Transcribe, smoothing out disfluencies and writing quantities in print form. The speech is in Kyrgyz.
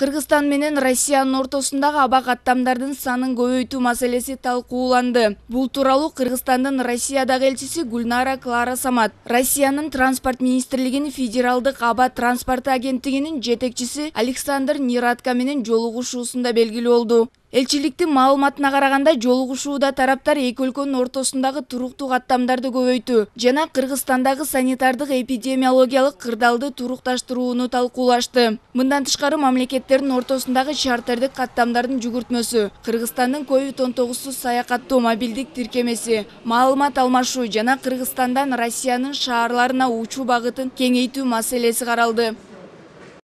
Кыргызстан менен Россиянын ортосундагы аба каттамдардын санын көбөйтүү маселеси талкууланды. Бул тууралуу Кыргызстандын Россиядагы элчиси Гульнара Клара Самат, Россиянын транспорт министрлигинин федералдык аба транспорты агенттигинин жетекчиси Александр Нерадко менен жолугушуусунда белгилүү болду. Элчиликтин маалыматына караганда, жолугушууда тараптар эки өлкөнүн ортосундагы туруктуу каттамдарды көбөйтүү жана Кыргызстандагы санитардык эпидемиологиялык кырдаалды турукташтырууну талкуулашты. Мындан тышкары мамлекеттердин ортосундагы чартердик каттамдардын жүгүртмөсү, Кыргызстандын COVID-19 саякаттоо мобилдик тиркемеси, маалымат алмашуу жана Кыргызстандан Россиянын шаарларына учуу багытын кеңейтүү маселеси каралды.